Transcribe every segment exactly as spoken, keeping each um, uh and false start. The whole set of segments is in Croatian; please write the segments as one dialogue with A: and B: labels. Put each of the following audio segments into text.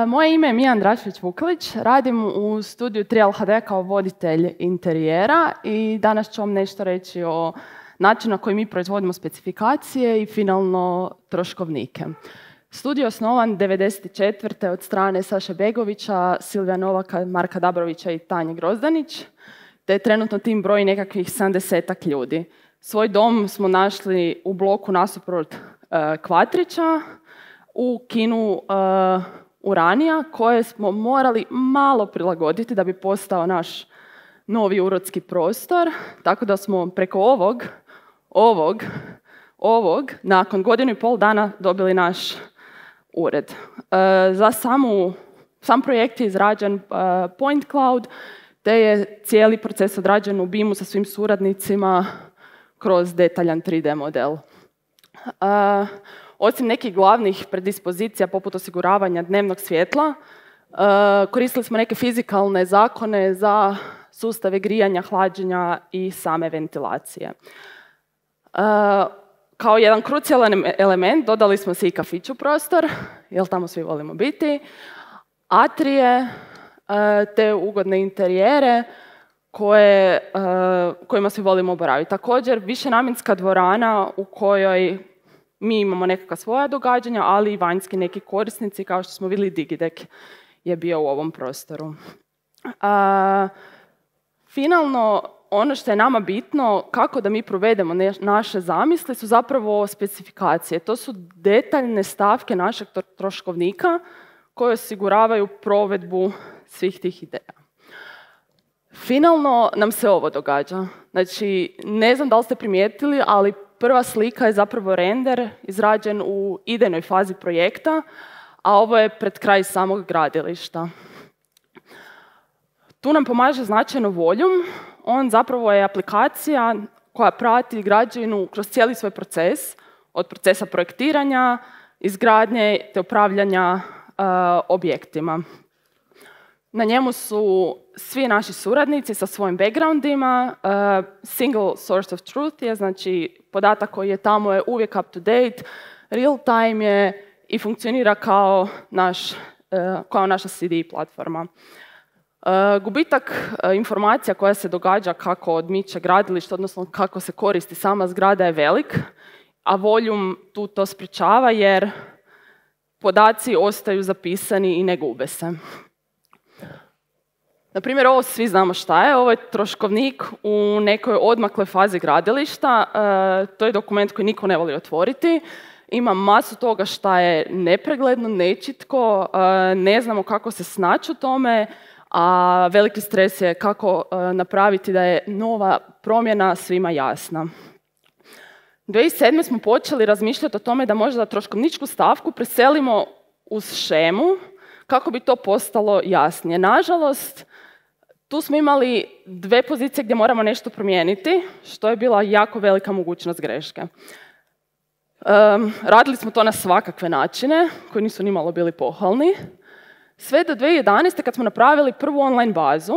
A: Moje ime je Mija Andrašević-Vukelić, radim u studiju tri L H D kao voditelj interijera i danas ću vam nešto reći o načinu na koji mi proizvodimo specifikacije i finalno troškovnike. Studio je osnovan devedeset četvrte od strane Saše Begovića, Silvija Novaka, Marka Dabrovića i Tanje Grozdanić, te trenutno tim broji nekakvih sedamdesetak ljudi. Svoj dom smo našli u bloku nasuprot uh, Kvatrića, u kinu uh, Uranija, koje smo morali malo prilagoditi da bi postao naš novi urodski prostor, tako da smo preko ovog, ovog, ovog, nakon godinu i pol dana dobili naš ured. E, za samu, sam projekt je izrađen uh, Point Cloud, te je cijeli proces odrađen u bimu sa svim suradnicima kroz detaljan tri D model. Uh, Osim nekih glavnih predispozicija poput osiguravanja dnevnog svjetla, uh, koristili smo neke fizikalne zakone za sustave grijanja, hlađenja i same ventilacije. Uh, kao jedan krucijalan element dodali smo se i kafić u prostor, jer tamo svi volimo biti, atrije, uh, te ugodne interijere koje, uh, kojima svi volimo boraviti. Također, višenamjenska dvorana u kojoj mi imamo nekakva svoja događanja, ali i vanjski neki korisnici, kao što smo vidjeli, Digidek je bio u ovom prostoru. A, finalno, ono što je nama bitno, kako da mi provedemo ne, naše zamisli, su zapravo specifikacije. To su detaljne stavke našeg troškovnika koje osiguravaju provedbu svih tih ideja. Finalno nam se ovo događa. Znači, ne znam da li ste primijetili, ali prva slika je zapravo render izrađen u idejnoj fazi projekta, a ovo je pred kraj samog gradilišta. Tu nam pomaže značajno Volume. On zapravo je aplikacija koja prati građevinu kroz cijeli svoj proces, od procesa projektiranja, izgradnje te upravljanja uh, objektima. Na njemu su svi naši suradnici sa svojim backgroundima. Uh, single source of truth je, znači podatak koji je tamo je uvijek up to date, real time je i funkcionira kao, naš, uh, kao naša C D platforma. Uh, gubitak uh, informacija koja se događa kako odmiče gradilište, odnosno kako se koristi sama zgrada je velik, a Volume tu to sprječava jer podaci ostaju zapisani i ne gube se. Na primjer, ovo svi znamo šta je. Ovo je troškovnik u nekoj odmakloj fazi gradilišta. E, to je dokument koji niko ne voli otvoriti. Ima masu toga šta je nepregledno, nečitko, e, ne znamo kako se snaći u tome, a veliki stres je kako e, napraviti da je nova promjena svima jasna. dvije tisuće sedme smo počeli razmišljati o tome da možda troškovničku stavku preselimo uz šemu kako bi to postalo jasnije. Nažalost, tu smo imali dve pozicije gdje moramo nešto promijeniti, što je bila jako velika mogućnost greške. Um, radili smo to na svakakve načine, koji nisu nimalo bili pohvalni. Sve do dvije tisuće jedanaeste kad smo napravili prvu online bazu,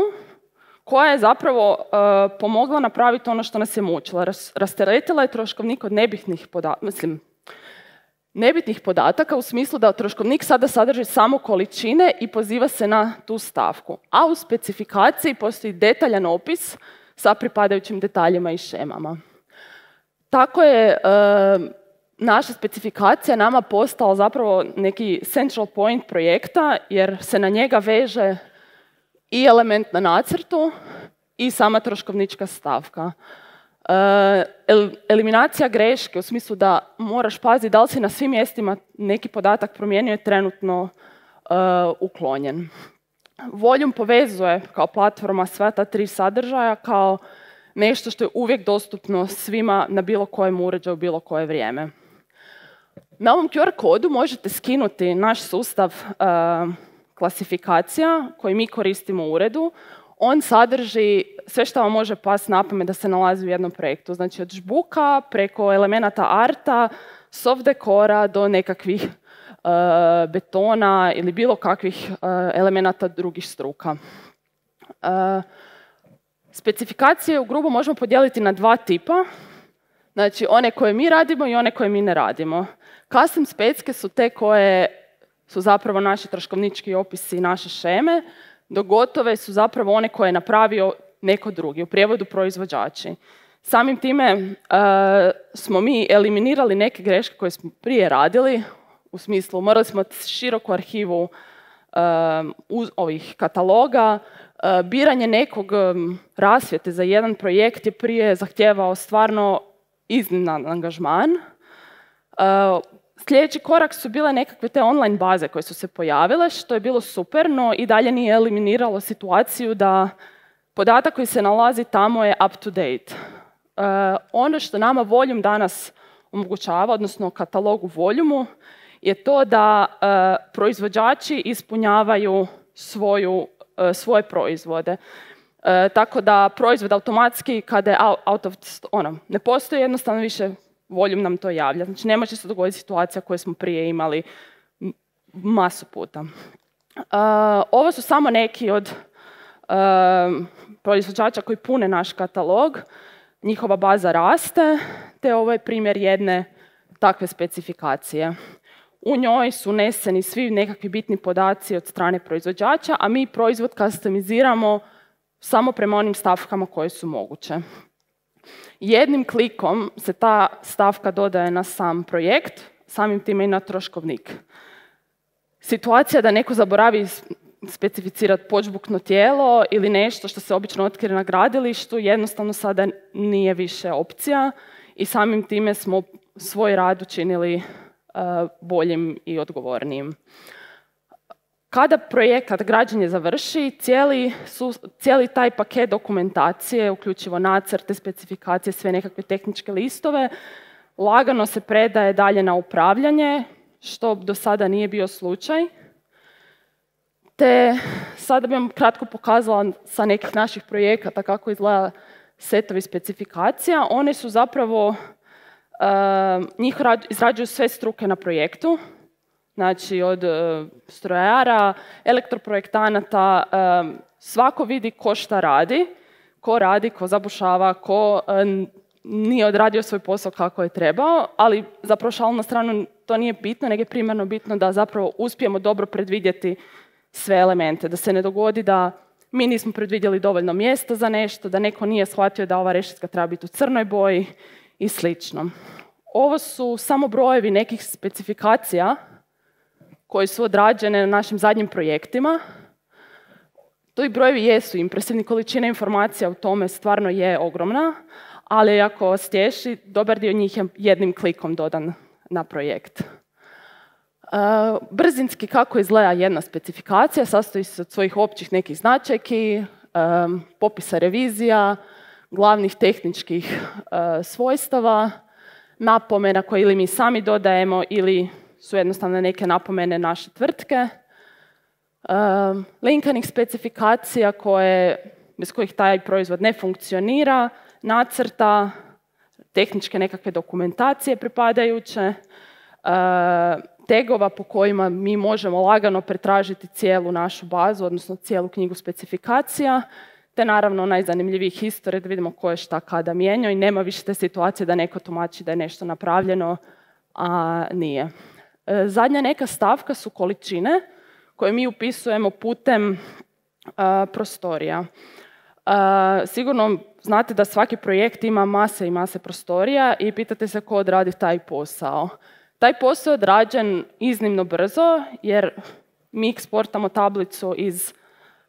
A: koja je zapravo uh, pomogla napraviti ono što nas je mučilo. Ras, rasteretila je troškovnik od nebitnih podataka, mislim, nebitnih podataka u smislu da troškovnik sada sadrži samo količine i poziva se na tu stavku. A u specifikaciji postoji detaljan opis sa pripadajućim detaljima i šemama. Tako je e, naša specifikacija nama postala zapravo neki central point projekta, jer se na njega veže i element na nacrtu i sama troškovnička stavka. Uh, eliminacija greške u smislu da moraš paziti da li si na svim mjestima neki podatak promijenio je trenutno uh, uklonjen. Volume povezuje kao platforma sva ta tri sadržaja kao nešto što je uvijek dostupno svima na bilo kojem uređaju, bilo koje vrijeme. Na ovom Q R kodu možete skinuti naš sustav uh, klasifikacija koji mi koristimo u uredu. On sadrži sve što vam može pasti na pamet da se nalazi u jednom projektu. Znači od žbuka preko elemenata arta, soft dekora do nekakvih uh, betona ili bilo kakvih uh, elemenata drugih struka. Uh, specifikacije u grubo možemo podijeliti na dva tipa. Znači one koje mi radimo i one koje mi ne radimo. Custom specke su te koje su zapravo naši troškovnički opisi i naše šeme, dok gotove su zapravo one koje je napravio neko drugi, u prijevodu proizvođači. Samim time uh, smo mi eliminirali neke greške koje smo prije radili, u smislu morali smo široku arhivu um, uz ovih kataloga, uh, biranje nekog um, rasvjete za jedan projekt je prije zahtijevao stvarno izniman angažman. Uh, sljedeći korak su bile nekakve te online baze koje su se pojavile, što je bilo super, no i dalje nije eliminiralo situaciju da podatak koji se nalazi tamo je up to date. Uh, ono što nama Volume danas omogućava, odnosno katalogu Volumu, je to da uh, proizvođači ispunjavaju svoju, uh, svoje proizvode. Uh, tako da proizvod automatski, kada je out of, ono, ne postoji jednostavno više, Volume nam to javlja. Znači ne može se dogoditi situacija koju smo prije imali masu puta. Uh, ovo su samo neki od uh, proizvođača koji pune naš katalog. Njihova baza raste, te ovo je primjer jedne takve specifikacije. U njoj su uneseni svi nekakvi bitni podaci od strane proizvođača, a mi proizvod customiziramo samo prema onim stavkama koje su moguće. Jednim klikom se ta stavka dodaje na sam projekt, samim time i na troškovnik. Situacija da neko zaboravi specificirati počbukno tijelo ili nešto što se obično otkrije na gradilištu, jednostavno sada nije više opcija i samim time smo svoj rad učinili uh, boljim i odgovornijim. Kada projekat građenje završi, cijeli, su, cijeli taj paket dokumentacije, uključivo nacrte, specifikacije, sve nekakve tehničke listove, lagano se predaje dalje na upravljanje, što do sada nije bio slučaj. Te sada bih vam kratko pokazala sa nekih naših projekata kako izgleda setovi specifikacija. One su zapravo, uh, njih izrađuju sve struke na projektu, znači od uh, strojara, elektroprojektanata, um, svako vidi ko šta radi, ko radi, ko zabušava, ko uh, nije odradio svoj posao kako je trebao, ali zapravo šalu na stranu to nije bitno, nego je primarno bitno da zapravo uspijemo dobro predvidjeti sve elemente, da se ne dogodi da mi nismo predvidjeli dovoljno mjesta za nešto, da neko nije shvatio da ova rešetka treba biti u crnoj boji i slično. Ovo su samo brojevi nekih specifikacija koje su odrađene na našim zadnjim projektima. To i brojevi jesu impresivni, količina informacija u tome stvarno je ogromna, ali ako vas tješi, dobar dio njih je jednim klikom dodan na projekt. Uh, brzinski kako izgleda jedna specifikacija, sastoji se od svojih općih nekih značajki, um, popisa revizija, glavnih tehničkih uh, svojstava, napomena koje ili mi sami dodajemo ili su jednostavno neke napomene naše tvrtke, um, linkanih specifikacija koje, bez kojih taj proizvod ne funkcionira, nacrta, tehničke nekakve dokumentacije pripadajuće, uh, tegova po kojima mi možemo lagano pretražiti cijelu našu bazu, odnosno cijelu knjigu specifikacija, te naravno najzanimljiviji historije da vidimo ko je šta kada mijenjao i nema više te situacije da neko tumači da je nešto napravljeno, a nije. E, zadnja neka stavka su količine koje mi upisujemo putem a, prostorija. A, sigurno znate da svaki projekt ima mase i mase prostorija i pitate se ko odradi taj posao. Taj posao je odrađen iznimno brzo jer mi eksportamo tablicu iz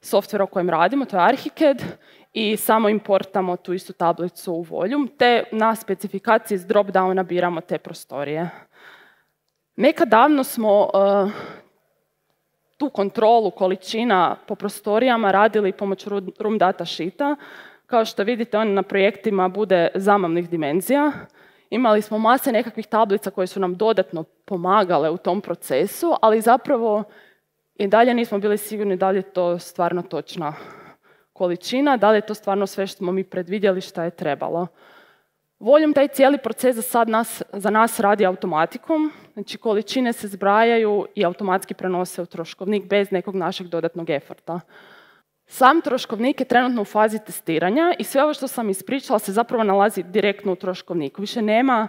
A: softvera u kojem radimo, to je Archicad, i samo importamo tu istu tablicu u Volume, te na specifikaciji iz drop-downa biramo te prostorije. Nekad davno smo uh, tu kontrolu količina po prostorijama radili pomoću room data sheeta. Kao što vidite, on na projektima bude zamavnih dimenzija. Imali smo mase nekakvih tablica koje su nam dodatno pomagale u tom procesu, ali zapravo i dalje nismo bili sigurni da li je to stvarno točna količina, da li je to stvarno sve što smo mi predvidjeli šta je trebalo. Volume taj cijeli proces za sad nas, za nas radi automatikom, znači količine se zbrajaju i automatski prenose u troškovnik bez nekog našeg dodatnog eforta. Sam troškovnik je trenutno u fazi testiranja i sve ovo što sam ispričala se zapravo nalazi direktno u troškovniku. Više nema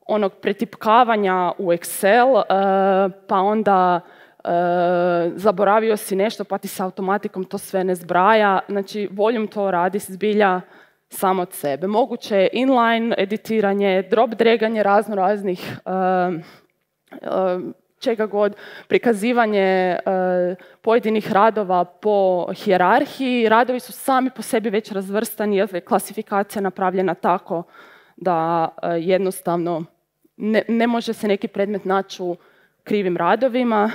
A: onog pretipkavanja u Excel, pa onda zaboravio si nešto pa ti se automatikom to sve ne zbraja. Znači, voljom to radi zbilja samo od sebe. Moguće je inline editiranje, drop draganje razno raznih uh, uh, čega god, prikazivanje uh, pojedinih radova po hijerarhiji. Radovi su sami po sebi već razvrstani, jer je klasifikacija napravljena tako da uh, jednostavno ne, ne može se neki predmet naći u krivim radovima.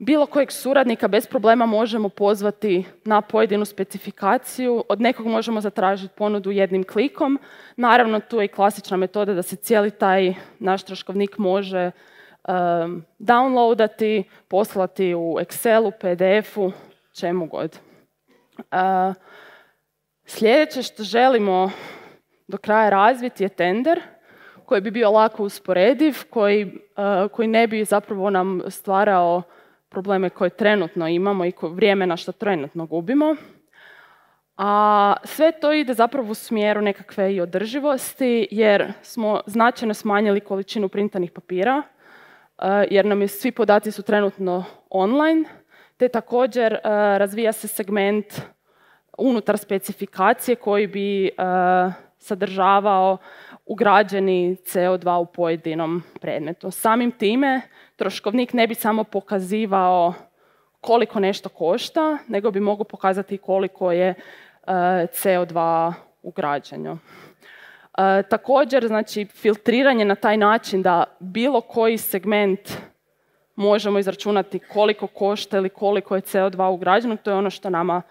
A: Bilo kojeg suradnika bez problema možemo pozvati na pojedinu specifikaciju. Od nekog možemo zatražiti ponudu jednim klikom. Naravno, tu je i klasična metoda da se cijeli taj naš troškovnik može um, downloadati, poslati u Excelu, P D F-u, čemu god. Uh, sljedeće što želimo do kraja razviti je tender, koji bi bio lako usporediv, koji, uh, koji ne bi zapravo nam stvarao probleme koje trenutno imamo i vrijeme na što trenutno gubimo. A sve to ide zapravo u smjeru nekakve i održivosti, jer smo značajno smanjili količinu printanih papira, jer nam je, svi podaci su trenutno online, te također razvija se segment unutar specifikacije koji bi sadržavao ugrađeni C O dva u pojedinom predmetu. Samim time troškovnik ne bi samo pokazivao koliko nešto košta, nego bi mogao pokazati koliko je uh, C O dva ugrađeno. Uh, također, znači, filtriranje na taj način da bilo koji segment možemo izračunati koliko košta ili koliko je C O dva ugrađeno, to je ono što nama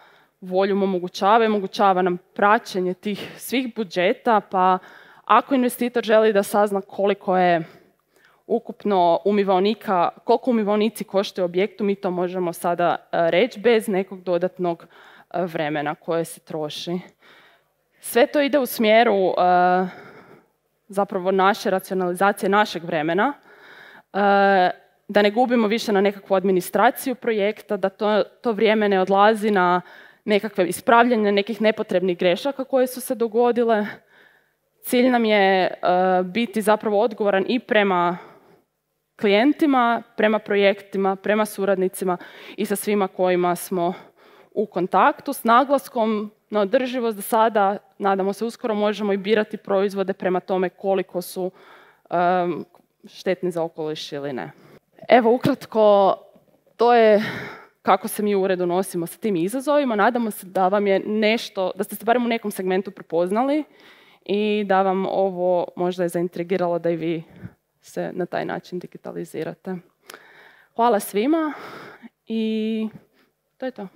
A: voljom omogućava i omogućava nam praćenje tih svih budžeta, pa ako investitor želi da sazna koliko je ukupno umivaonika, koliko umivaonici koštaju objektu, mi to možemo sada reći bez nekog dodatnog vremena koje se troši. Sve to ide u smjeru uh, zapravo naše racionalizacije našeg vremena, uh, da ne gubimo više na nekakvu administraciju projekta, da to, to vrijeme ne odlazi na nekakve ispravljanje nekih nepotrebnih grešaka koje su se dogodile. Cilj nam je uh, biti zapravo odgovoran i prema klijentima, prema projektima, prema suradnicima i sa svima kojima smo u kontaktu, s naglaskom na održivost. Da sada, nadamo se, uskoro možemo i birati proizvode prema tome koliko su um, štetni za okoliš ili ne. Evo, ukratko, to je kako se mi u uredu nosimo sa tim izazovima. Nadamo se da vam je nešto, da ste se barem u nekom segmentu prepoznali i da vam ovo možda je zaintrigiralo da i vi se na taj način digitalizirate. Hvala svima i to je to.